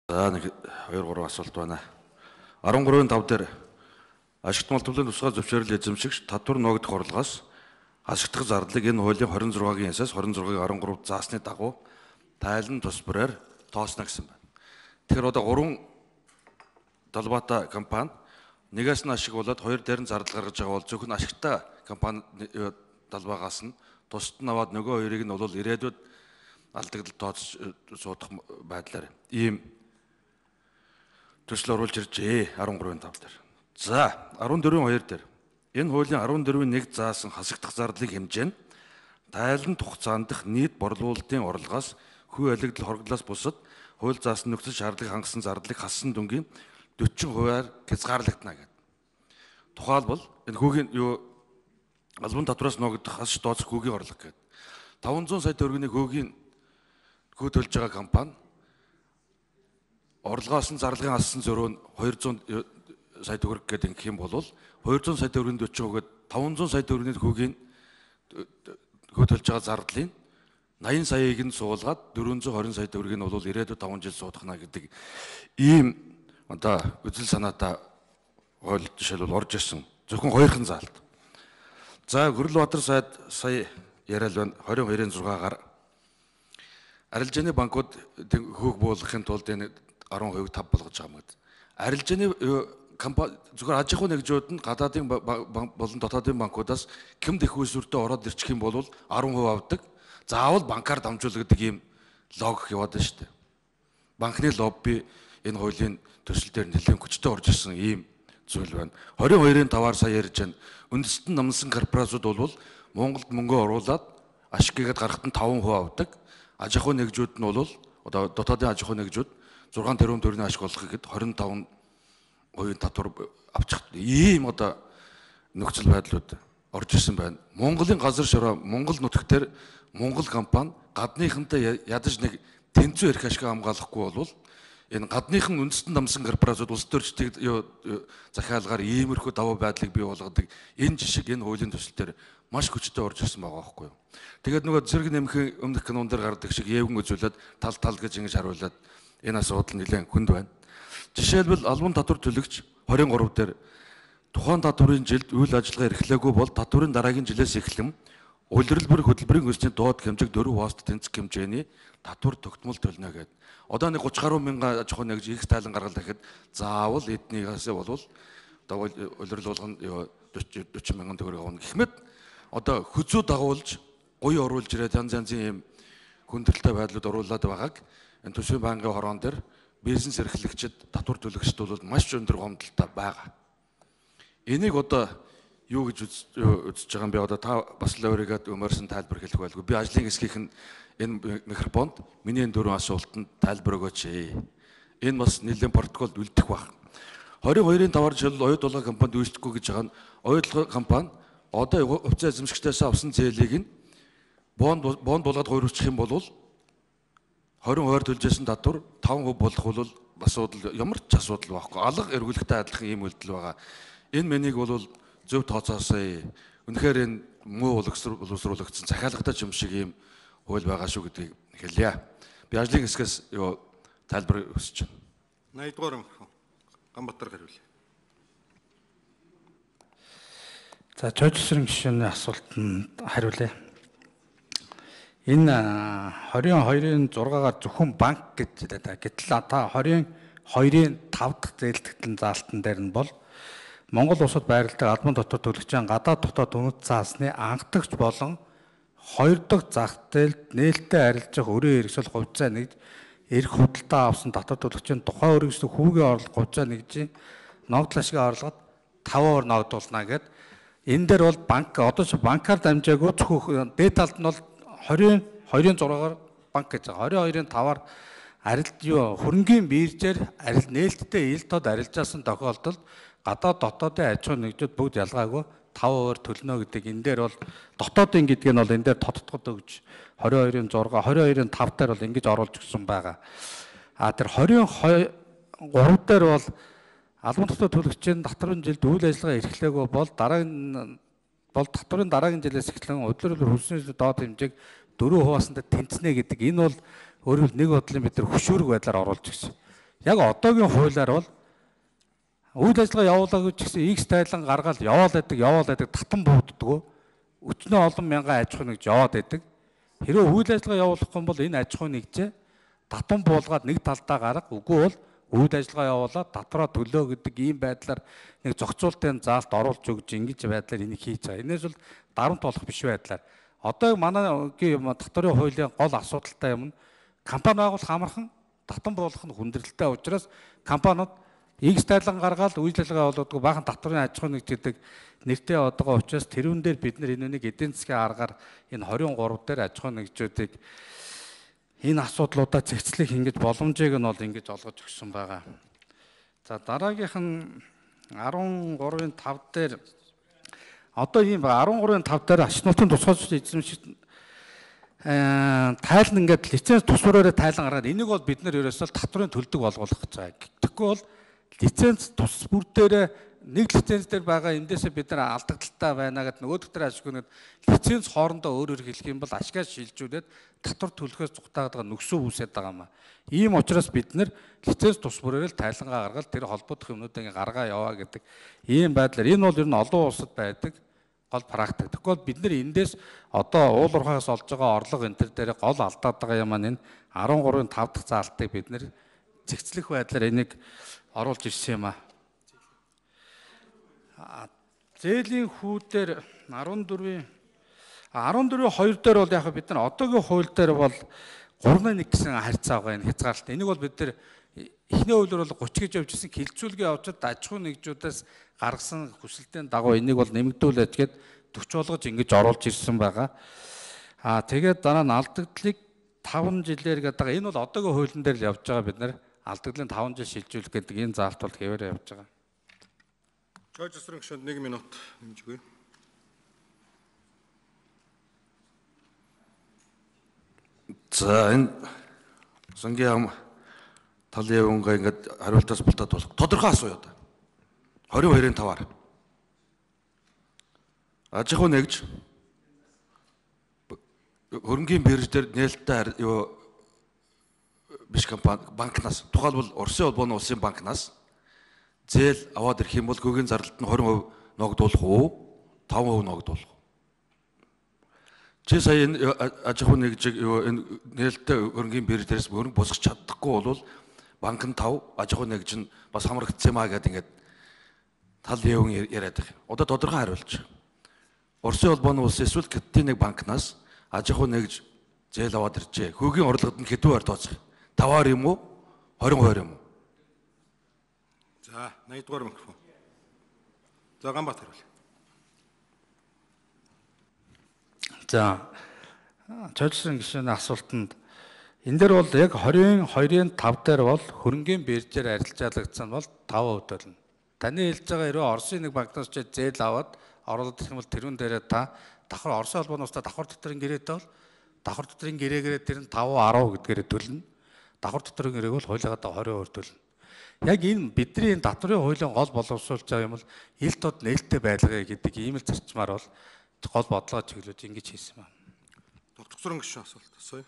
За нэг 2-3 асуулт байна. 13-5 дээр ашигт малтмлын тусгай зөвшөөрөл эзэмшигч татвар ногдох орлогоос ашигтгах зардлыг энэ хуулийн 26-гийн ясаас 26-гийн 13 заасны дагуу тайлан тус бүрээр тоосно гэсэн байна. Тэгэхээр одоо 3 талбайтай компани нэгээс нь ашиглуулад хоёр дээр нь зардал гаргаж байгаа бол зөвхөн ашигтай компани талбайгаас нь тусад нь аваад нөгөө хоёрыг нь бол ирээдүйд алдагдал тооцож суудах байдлаар ийм төсөл оруулж иржээ 13-5 дээр. За 14-2 дээр энэ хуулийн 14-1 заасан хасагдах зардлыг хэмжээ нь тайлан хугацаанд дэх нийт борлуулалтын орлогоос хүү алигдал хоригдлоос бусад хууль заасан нөхцөл шаардлагыг хангасан зардлыг хассан дүнгийн 40%-аар хязгаарлагдана гэдэг. Тухайлбал энэ хүүгийн албан татвараас ногдох хасж тооцох хүүгийн орлого гэдэг. 500 сая төгрөгийн хүүгийн хүү төлж байгаа компани орлогоос нь зарлагын хассан зөрөө нь 200 сая төгрөг гэдэг ингэх юм бол 200 сая төгрөгийн 40% гээд 500 сая төгрөгийн хүүгийн хүү төлж байгаа зардлын 80 саяыг нь суулгаад 420 сая төгрөгийг нь бол ирээдүйд 5 жил суудахна гэдэг ийм одоо үзэл санаатай хууль жишээлбэл орж ирсэн. Зөвхөн хоёрхан заалт. За Гүрэлбаатар сайд сая яриад байна 22-6-гаар арилжааны банкуд хүүг буулгахын тулд энэ 10% тав болгож байгаа юм гэдэг. Арилжааны компани зөвхөн аж ахуй нэгжүүд нь гадаадын болон дотоодын банкудаас кэмд их үүсвэртэй ороод ирчих юм бол 10% авдаг. Заавал банкар дамжуулдаг ийм логик яваад байна шүү дээ. Банкны лобби энэ хуулийн төсөл дээр нэлээд хүчтэй орж ирсэн ийм зүйл байна. 22-5-аар сая ярьж байна. Үндэстэн намсан корпорациуд бол Монголд мөнгө оруулаад ашиггээд гарахад нь 5% авдаг. Аж ахуй нэгжүүд нь бол одоо дотоодын аж ахуй нэгжүүд 6 тэрбум төгрөгийн ашиг олох гэхэд 25% татвар авчих. Ийм одоо нөхцөл байдлууд орж ирсэн байна. Монголын газар шороо Монгол нутагтэр Монгол компани гадныхантай ядаж нэг тэнцүү эрх ашиг хамгаалахгүй бол энэ гадныхан үндэстэн намсан корпорациуд улс төрчдийг захиалгаар иймэрхүү даваа байдлыг бий болгодог энэ жишг энэ хуулийн төсөл дээр маш хүчтэй орж ирсэн байгаа байхгүй юу. Тэгээд нөгөө зэрэг нэмэх өмнөх канон дээр гардаг шиг эвгэн үзүүлээд тал гэж ингэж харуулад энэ асуудал нэлээд хүнд байна. Жишээлбэл албан татвар төлөгч 23 дээр тухайн татварын жилд үйл ажиллагаа эрхлээгүй бол татварын дараагийн жилээс эхлэн улирлбэр хөтөлбөрийн хүсний доод хэмжээг 4 хоост тэнцэх хэмжээний татвар тогтмол төлнө гэдэг. Одоо нэг 30 гаруй мянган аж ахуй нэгж их тайлан гаргал гэхэд заавал эднийгээс бол одоо улирал болгоно 40 мянган төгрөг авна гэхмэд одоо хүзүү дагуулж гоё оруулж ирээд янз янзын юм хүндрэлтэй байдлууд оруулаад байгааг энэ төсвийн банкны хороон дээр бизнес эрхлэгчид татвар төлөгчд бол маш өндөр гомдолтой байгаа. Энийг одоо юу гэж үзэж байгаа юм бэ? Одоо та бас л өөрийгөө өмөрсөн тайлбар хэлэх байлгүй. Би ажлын хэсгийнх нь энэ микрофонд миний энэ 4 асуултанд тайлбар өгөөч. Энэ бас нэлээд протоколд үлдэх баг. 22-5-аар жишээл оюут болгоо компанид үүсдэхгүй гэж байгаа нь оюут болгоо компани одоо хувьцаа эзэмшигчдээс авсан зээлийг нь бонд болгоод хуурчих юм бол 20%-аар төлжсэн татвар 5% болох бол асуудал ямар ч асуудал байхгүй. Алга эргүүлэхтэй адилхан ийм үйлдэл байгаа. Энэ мэнийг бол зөв тооцоосоо үнэхээр энэ муу боловсруулагдсан захиалгатай юм шиг ийм хууль байгаа шүү гэдгийг хэлье. Би ажлын хэсгээс тайлбар өсөж байна. 80 дугаар Ганбатар хариулъя. За чойжсрын гишүүний асуултанд хариулъя. Энэ 22-6-гаар зөвхөн банк гэж хэлээд байгаа. Гэтэл та 22-5 дахь зээлдэгтэн заалтан дээр нь бол Монгол улсад байрладаг албан татвар төлөгчийн гадаад дотоод үнэт заасны анхдагч болон 2 дахь зах зээлд нээлттэй арилжах өрөө хэрэгсэл хувьцаа нэгж эрх худалдаа авсан татвар төлөгчийн тухайн өргөсөлт хүүгийн орлого хувьцаа нэгжийн ногдол ашигын орлогод 5% ногдуулна гэдэг. Энэ дээр бол банк одоо ч банкар дамжаагүй зөвхөн дээд талд нь бол 22-6-гаар банк гэж байгаа. 22-5-аар хөрөнгийн биржээр нээлттэй ил тод арилжаасан тохиолдолд гадаад дотоодын аж ахуй нэгжүүд бүгд ялгаагүй 5% төлнө гэдэг. Энэ дээр бол дотоодын гэдг нь бол энэ дээр тодтогд өгж 22-6, 22-5 дээр бол ингэж оруулж өгсөн байгаа. Тэр 23 дээр бол албан татвар төлөгчийн татварын жилд үйл ажиллагаа эрхлээгүй бол татварын дараагийн жилээс эхлэн удирдлагын хөлсний доод хэмжээг 4%-аас тэнцэнэ гэдэг. Энэ бол өөрөөр нэг бодлын бид нар хөшөөрөг байдлаар оруулж өгсөн. Яг одоогийн хуулиар бол үйл ажиллагаа явуулаагүй ч гэсэн X тайлан гаргаад яваал байдаг татан бууддаг. Өчнөө олон мянган аж ахуй нэгж яваад байдаг. Хэрэв үйл ажиллагаа явуулахгүй бол энэ аж ахуй нэгжээ татан буулгаад нэг талдаа гарга, үгүй бол үйл ажиллагаа явуулаад татраа төлөө гэдэг ийм байдлаар нэг зохицуултын заалт оруулж өгж ингэж байдлаар энийг хийж байгаа. Энээс бол дарамт болох биш байдлаар. Одоо манайгийн татварын хуулийн гол асуудалтай юм нь компани байгуулах амархан, татан буулгах нь хүндрэлтэй учраас компаниуд X тайлан гаргаад үйл ажиллагаа явуулдаг баахан татварын аж ахуй нэгж гэдэг нэртэй одоогоо учраас тэрүүн дээр бид нар энэ эдийн засгийн аргаар энэ 23 дээр аж ахуй нэгжүүдийг энэ асуудлуудаа зэгцлэх ингэж боломжийг нь бол ингэж олгож өгсөн байгаа. За дараагийнх нь 13-ын 5 дээр одоо ийм 13-ын 5 дээр ач нутгийн тусгай эзэмшигч тайлан ингээд лиценз тусвараараа тайлан гаргаад энийг бол бид нар ерөөсөө татварын төлдөг болгох гэж байгаа. Тэгэхгүй бол лиценз тус бүр дээр нэг лиценз дээр байгаа эндээсээ бид нар алдагдaltaй байна гэдэг нөгөө дээр ашигнаад лиценз хоорондоо өөр хэлэх юм бол ашигаас шилжүүлээд татвар төлөхөөс зугатаагаад байгаа нөхцөл үүсээд байгаа юм аа. Ийм учраас бид нар лиценз тус бүрээр л тайлангаа гаргаад тэр холбогдох юмнуудыг гаргаа яваа гэдэг ийм байдлаар энэ бол ер нь олон улсад байдаг гол практик. Тэгэхгүй бид нар эндээс одоо уулуурхаас олж байгаа орлого энэ төр дээр гол алдаад байгаа юм аа. Энэ 13-ын 5 дахь заалтыг бид нар зэгцлэх байдлаар энийг оруулж ирсэн юм аа. Зээлийн хүүдээр 14-2 дээр бол яг бид нар одоогийн хууль дээр бол 3-1 гэсэн харьцаа байгаа энэ хязгаарлалт. Энийг бол бид нар эхний хуулиар бол 30 гэж явж ирсэн хилцүүлгийн явцад аж ахуй нэгжүүдээс гаргасан хүсэлтийн дагуу энийг бол нэмэгдүүлээд гээд 40 болгож ингэж оруулж ирсэн байгаа. Тэгээд дараа нь алдагдлыг 5 жилээр гэдэг байгаа. Энэ бол одоогийн хуулийн дээр л явж байгаа бид нар алдагдлын 5 жил шилжүүлэх гэдэг энэ заалт бол хэвээр явж байгаа. Жорж Эсрэн гишүүнд 1 минут нэмж өгье. За энэ сангийн талын явангаа ингээд хариултаас бултаад болох тодорхой асууя одоо. 22-ын 5-аар. Аж ахуй нэгж хөрөнгийн бирж дээр нээлттэй юу биш компани банкнаас тухайлбал Оросын улбооны улсын банкнаас зээл аваад ирэх юм бол гүгийн зардалд нь 20% ногдуулах уу? 5% ногдуулах уу? Чи сая энэ аж ахуй нэгжийг энэ нээлттэй хөрөнгийн биржлэрээс хөрөнгө босгож чадахгүй бол банк нь 5, аж ахуй нэгж нь бас хамрагдсан юм аа гэдэг ингээд тал явн яриад байгаа. Одоо тодорхой хариулж. Оросын улбооны улс эсвэл Китийн нэг банкнаас аж ахуй нэгж зээл аваад иржээ. Хөрөнгөний орлогод нь хэдэн хувиар тооцох? 5-аар юм уу? 20% юм уу? За 80 дугаар микрофон. За Ганбаатар хариулъя. За Жолсон гишүүний асуултанд энэ дээр бол яг 22-ын 5 дээр бол хөрөнгийн биржээр арилжаалагдсан бол 5% болно. Таны хэлж байгаа хэрэг Оросын нэг банкнаас ч зээл аваад оруулаад ирэх юм бол тэрүүн дээрээ та давхар Оросын холбооны улстай давхар дотрын гэрээтэй бол давхар дотрын гэрээгээрээ тэр нь 5, 10 гэдгээрээ төлнө. Давхар дотрын гэрээг бол хуулиагаа 20% төлнө. Яг энэ бидний энэ татварын хуулийн гол боловсруулж байгаа юм бол ил тод нээлттэй байлгая гэдэг ийм л зарчмаар бол гол бодлого чиглүүлж ингэж хийсэн байна. Докторын гишүүн асуулт асууя.